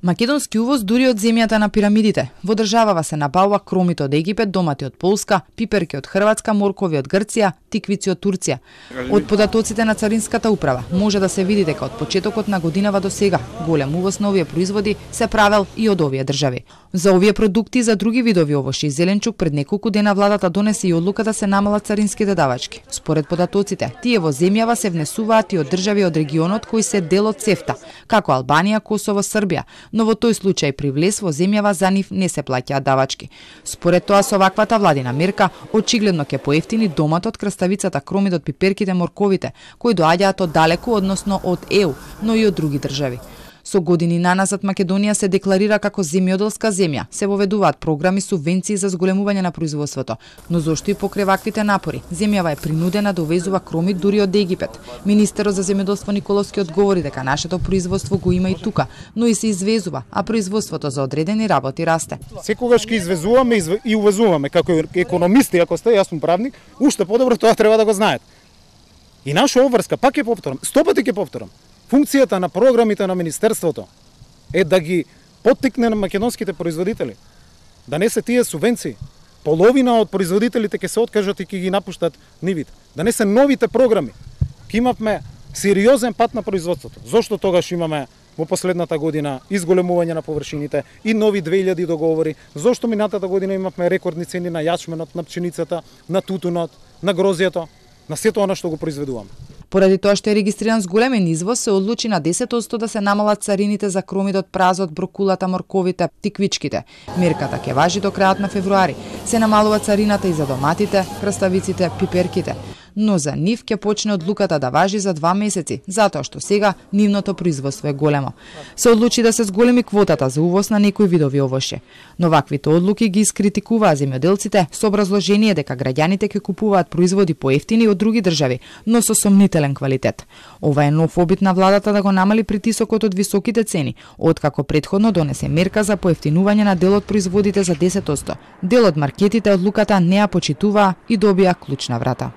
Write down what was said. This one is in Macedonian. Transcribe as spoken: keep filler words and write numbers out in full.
Македонски увоз дури од земјата на пирамидите. Во државава се набавува кромит од Египет, домати од Полска, пиперки од Хрватска, моркови од Грција, тиквици од Турција. Од податоците на Царинската управа може да се види дека од почетокот на годинава до сега голем увоз на овие производи се правел и од овие држави. За овие продукти и за други видови овошје и зеленчук пред неколку дена владата донесе и одлука да се намалат царинските давачки. Според податоците, тие во земјава се внесуваат и од држави од регионот кои се дел од ЦЕФТА, како Албанија, Косово, Србија, но во тој случај при влез во земјава за нив не се плаќаат давачки. Според тоа со ваквата владина мерка очигледно ќе поевтини доматот, краставицата, кромидот, пиперките, морковите, кои доаѓаат од далеку, односно од Е У, но и од други држави. Со години наназад Македонија се декларира како земјоделска земја. Се воведуваат програми, субвенции за зголемување на производството, но зошто и покрај ваквите напори земјава е принудена да увезува кромит дури од Египет. Министерот за земјоделство Николовски одговори дека нашето производство го има и тука, но и се извезува, а производството за одредени работи расте. Секогаш ќе извезуваме и увезуваме како економисти, ако сте, јас сум правник, уште подобро тоа треба да го знаете. И наша обврска, пак ќе повторам, сто пати ќе повторам. Функцијата на програмите на Министерството е да ги поттикне на македонските производители, да не се тие субвенции. Половина од производителите ќе се откажат и ќе ги напуштат нивите. Да не се новите програми. Ќе имавме сериозен пат на производството. Зошто тогаш имаме во последната година изголемување на површините и нови две илјади договори? Зошто минатата година имавме рекордни цени на јачменот, на пченицата, на тутунот, на грозјето, на сето она што го произведуваме? Поради тоа што е регистриран зголемен извоз, се одлучи на десет одсто да се намалат царините за кромидот, празот, брокулата, морковите, тиквичките. Мерката ќе важи до крајот на февруари. Се намалува царината и за доматите, краставиците, пиперките. Но за нив ќе почне одлуката да важи за два месеци, затоа што сега нивното производство е големо. Се одлучи да се зголеми квотата за увоз на некои видови овошје. Но ваквите одлуки ги искритикуваа земјоделците со образложение дека граѓаните ќе купуваат производи поевтини од други држави, но со сомнителен квалитет. Ова е нов обид на владата да го намали притисокот од високите цени, откако претходно донесе мерка за поевтинување на дел од производите за десет одсто. Дел од маркетите одлуката не ја почитуваа и добија клучна врата.